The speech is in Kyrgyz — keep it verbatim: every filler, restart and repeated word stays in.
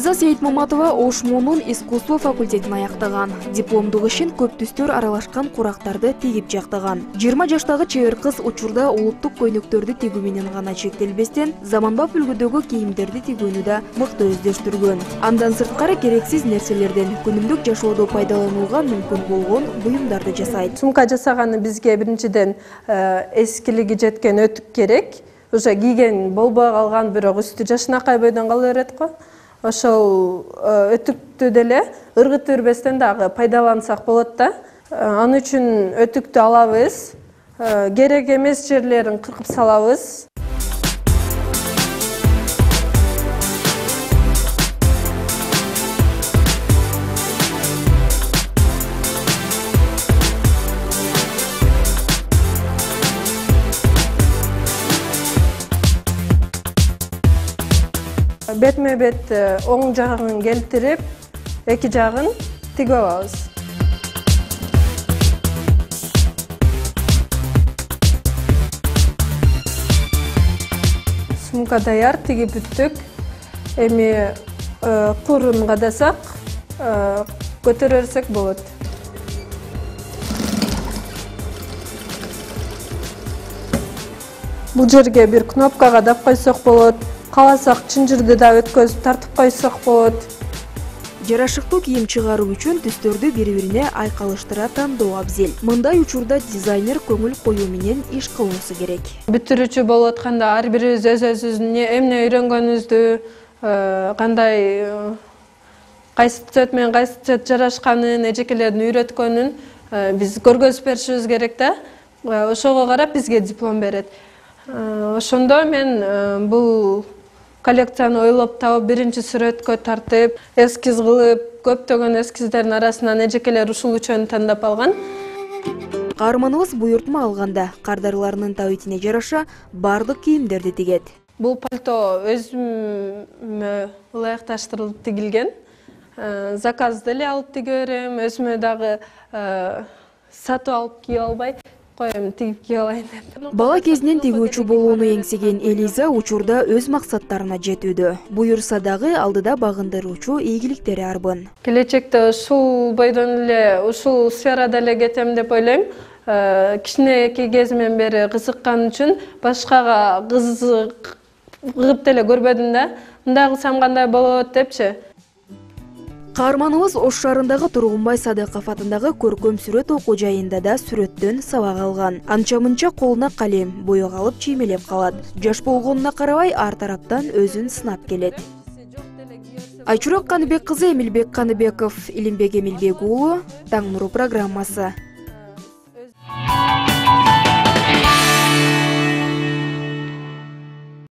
Элиза Сейитмаматова Ошмонун искусство факультетин аяктаган. Дипломдук ишин көп түстөр аралашкан курактарды тигип жактаган. жыйырма жаштагы чебер кыз учурда улуттук көйнөктөрдү тигүү менен гана чектелбестен, заманбап үлгүдөгү кийимдерди тигүүнү да мыкты өздөштүргөн. Андан сырткары керексиз нерселерден күнүмдүк жашоодо пайдаланууга мүмкүн болгон буюмдарды жасайт. Сумка жасаганы бизге биринчиден эскилиги жеткен өтүк керек. Уже кийген болбой калган, бирок үстү жашынакай бойдон кала берет го. Ошол өтүктү деле ыргытып бербестен дагы пайдалансак болот да. Аны үчүн өтүктү алабыз, керек эмес жерлерин кыркып салабыз. Бетме бет оң жагын келтирип, эки жагын тигип алабыз. Сумка даяр, тигип бүттүк. Эми курун кадасак, көтөрө берсек болот. Бул жерге бир кнопка кадап койсок болот. Каласак чынжырды да өткөзүп тартып койсок болот. Жарашыктуу кийим чыгаруу үчүн түстөрдү бири-бирине айкалыштыра тандоо абзел. Мындай учурда дизайнер көңүл коюу менен иш кылуусу керек. Бүтүрүүчү болуп атканда ар бирибиз өз-өзүбүздүн эмне үйрөнгөнүбүздү, кандай кайсы цвет менен кайсы цвет жарашканын, эжекелердин үйрөткөнүн биз көргөзүп беришибиз керек да. Ошого карап бизге диплом берет. Ошондо мен бул коллекцияны ойлоп табып, биринчи сүрөткө тартып, эскиз кылып, көптөгөн эскиздердин арасынан эжекелер ушул үчөөнү тандап алган. Каарманыбыз буйртма алганда кардарыларынын табитине жараша бардык кийимдерди тигет. Бул пальто өзүмө ылайыкташтырылып тигилген. Заказды эле алып тиге берем, өзүмө дагы сатып алып кийип албай коем, тигип кийип алайын деп. Бала кезинен тигүүчү болууну эңсеген Элиза учурда өз максаттарына жетүүдө. Буюрса дагы алдыда багындыруучу ийгиликтери арбын. Келечекте ушул бойдон эле, ушул сферада эле кетем деп ойлойм. Кичинекей кезимден бери кызыккан үчүн башкага кызыгып деле көрбөдүм да. Мындай кылсам кандай болот депчи. Каарманыбыз Ош шаарындагы Тургунбай Садыков атындагы көркөм сүрөт окуу жайында да сүрөттөн сабак алган. Анча-мынча колуна калем, боек алып чиймелеп калат. Жаш болгонуна карабай ар тараптан өзүн сынап келет. Айчурак Каныбек кызы, Эмилбек Каныбеков, Илимбек Эмилбек уулу, Таң нуру программасы.